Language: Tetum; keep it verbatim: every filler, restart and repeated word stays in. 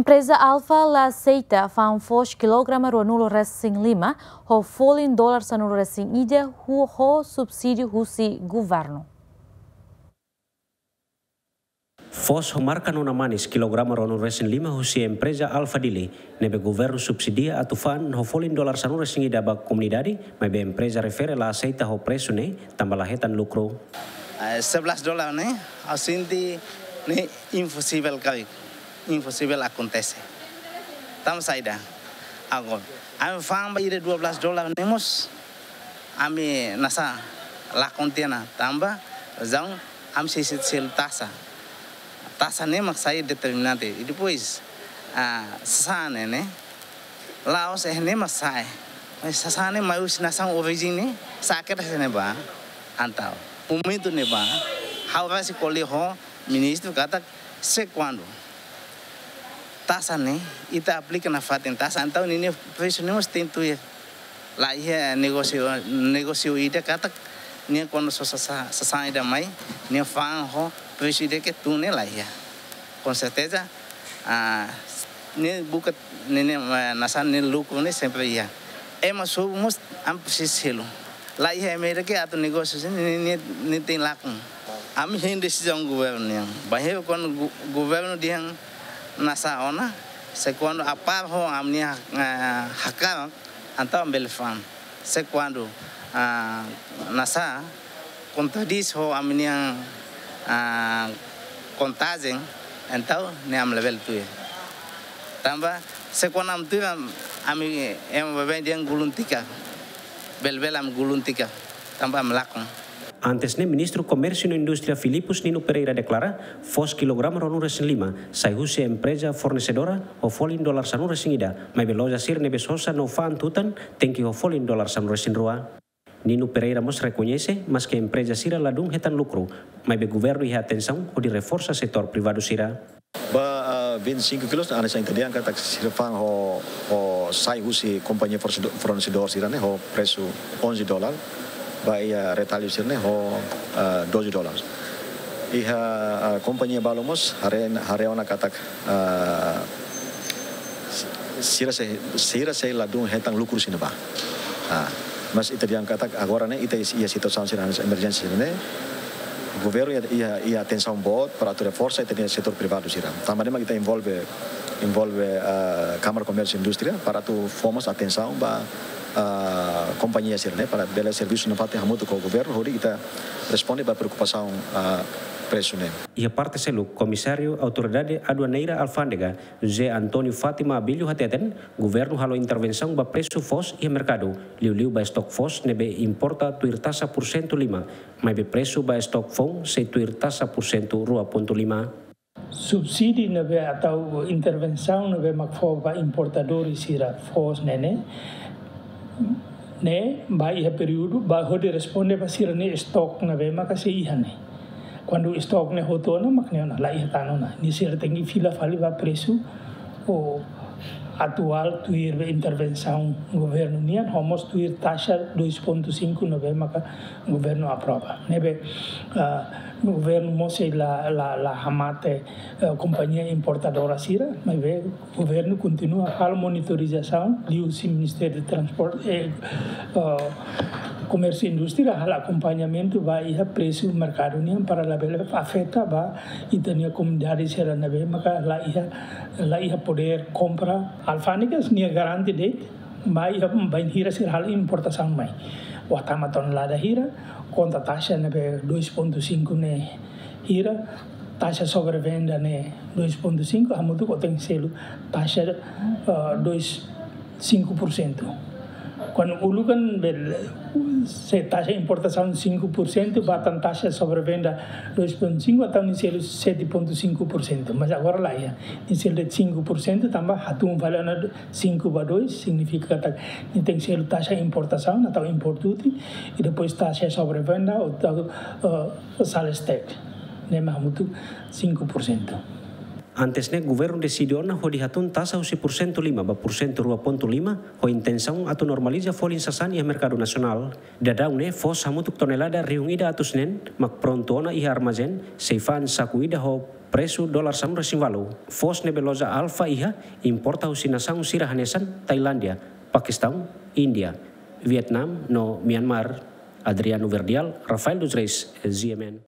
Empreza Alfa la aseita fa'an foos kilograma ruanulu resin lima ho folin dolar sanulu resin ida ho, ho subsídiu husi governu. Foos ho marka nona manis kilograma ruanulu resin lima husi empreza Alfa Dili, ne'ebé governu subsidia atu fa'an ho folin dolar sanulu resin ida ba komunidade, maibé empreza refere la aseita ho presu ne'e, tanba la hetan lukru. Eh, sebelas dolar ne'e, ha'u sente ne'e imposivel karik, imposivel akontese. Tanba saida? Agora, ami fa'an ba ida dua belas dolar ne'e mós, ami nasa lakon tiha ona, tanba razaun ami sei selu taxa. Taxa ne'e mak sai determinante. I depois, ah, sasán ne'e, la'ós ne'e mak sai. Mas sasán ne'e mai husi nasaun orijen ne'e, sá ke da sene ba. Entaun, momentu ne'ebá, ha'u rasik ko'alia ho ministru katak se kuandu taxa ne'e ita aplika nafatin taxa, entaun ninia presu ne'e mós tenke tuir. La iha negósiu, negósiu ida katak nia kuandu sosa sa-, sasán ida mai, nia fa'an ho presu ida ke tun ne'e la iha. Com certeza, ah, nia buka ne'e, ne'e, eh, nasaun nia lukru ne'e sempre iha. Ema sobu mós ami presiza selu. La iha ema ida ke atu negósiu sira-ne'e, ne'e, ne'e, ne'e tenke lakon. Ami hein desizaun governu nian. Bainhira kuandu go-, governu dehan nasa ona, se kuandu apár ho ami-nia, eh, hakarak, entaun ami bele fa'an. Se kuandu, ah, nasa kontradís ho ami-nia, ah, kontajen, entaun ne'e ami labele tuir. Tanba, se kuandu ami tuir, am-, ami, ema baibain dehan gulung tikar. Bele-bele ami gulung tikar. Tanba ami lakon. Antes ne'e, Ministru Komérsiu no Indústria Filipus Nino Pereira deklara, foos kilograma ruanulu resin lima sai husi empreza fornesedora ho folin dolar sanulu resin ida, maibé loja sira ne'ebé sosa no fa'an tutan tenke ho folin dolar sanulu resin rua. Nino Pereira mós rekoñese, maske empreza sira ladún hetan lukru, maibé governu iha atensaun hodi reforsa setór privadu sira. Ba, ah, vinte e cinco kilos, hanesan ita dehan katak sira fa'an ho, ho sai husi kompañia fornesido-, fornesedór sira-ne'e ho presu onze dolar, ba iha retallu sira-ne'e ho, ah, doze dolar. Iha, ah, kompañia balu mós haree, haree ona katak, ah, sira sei, sira sei ladún hetan lukru sira-ne'ebá. Ah, mas ita dehan katak agora ne'e ita iha situasaun sira-ne'e, emerjénsia sira-ne'e, governu iha, iha, iha atensaun boot para atu reforsa ita-nia setór privadu sira. Tanba ne'e mak ita envolve, envolve, ah, Kámara Komérsiu Indústria para atu fó mós atensaun ba, ah, kompañia sira-ne'e para bele servisu nafatin hamutuk ho governu hodi ita responde ba preokupasaun, ah, presu ne'e. Iha parte seluk, Komisáriu Autoridade Aduaneira Alfándega, José António Fátima Abílio hateten, governu halo intervensaun ba presu foos iha merkadu, liuliu ba estok foos ne'ebé importa tuir taxa porsentu lima, maibé presu ba estok foun sei tuir taxa porsentu rua pontu lima. Subsídiu ne'ebé atau intervensaun ne'ebé mak fó ba importadór sira foos ne'e ne'e, ne'e ba iha períodu ba hodi responde ba sira-nia estok ne'ebé maka sei iha ne'e. Kuandu estok ne'e hotu ona mak ne'e ona, la iha tan ona. Ne'e sira tenke fila fali ba presu atuál tuir ba intervensaun governu nian, ho mós tuir taxa dois ponto cinco ne'ebé maka governu aprova. Ne'ebé, ah, governu mós sei la, la, la hamate, eh, kompañia importadora sira, maibé governu kontinua halo monitorizasaun, liuhusi Ministériu Transporte, eh, eh, Komérsiu Indústria halo akompañamentu ba iha presu merkadu nian para labele afeta ba ita-nia komunidade sira ne'ebé maka la iha, la iha podér kompra. Alfándegas nia garante de'it, ba iha, bainhira sira halo importasaun mai. Ó tama tonelada hira, konta taxa ne'ebé dois ponto cinco ne'e hira, taxa sobrevenda ne'e dois ponto cinco, hamutuk ó tenke selu taxa, ah, dois, cinco por cento. Kuandu uluk kan bele, se taxa importasaun cinco por cento, ba tan taxa sobrevenda dois ponto cinco, entaun nia selu sete ponto cinco por cento. Mas agora la iha, nia selu cinco por cento, tanba hatún fali ona cinco ba dois, signifika katak nia tenke selu taxa importasaun, atau import duty, i depois taxa sobrevenda, atau, eh, sales tax. Ne'e mak hamutuk cinco por cento. Antes ne'e, governu deside ona hodi hatún taxa husi porsentu lima ba porsentu rua pontu lima, ho intensaun atu normaliza folin sasán iha merkadu nasionál. Daudaun ne'e, foos hamutuk tonelada rihun ida atus neen mak prontu ona iha armazén, sei fa'an saku ida ho Presu dolar sanulu-resin-ualu foos ne'ebé loja alfa iha importa husi nasaun sira hanesan Tailándia, Pakistan, Índia, Vietnam no Myanmar. Adriano Verdial, Rafael dos Reis, G M N.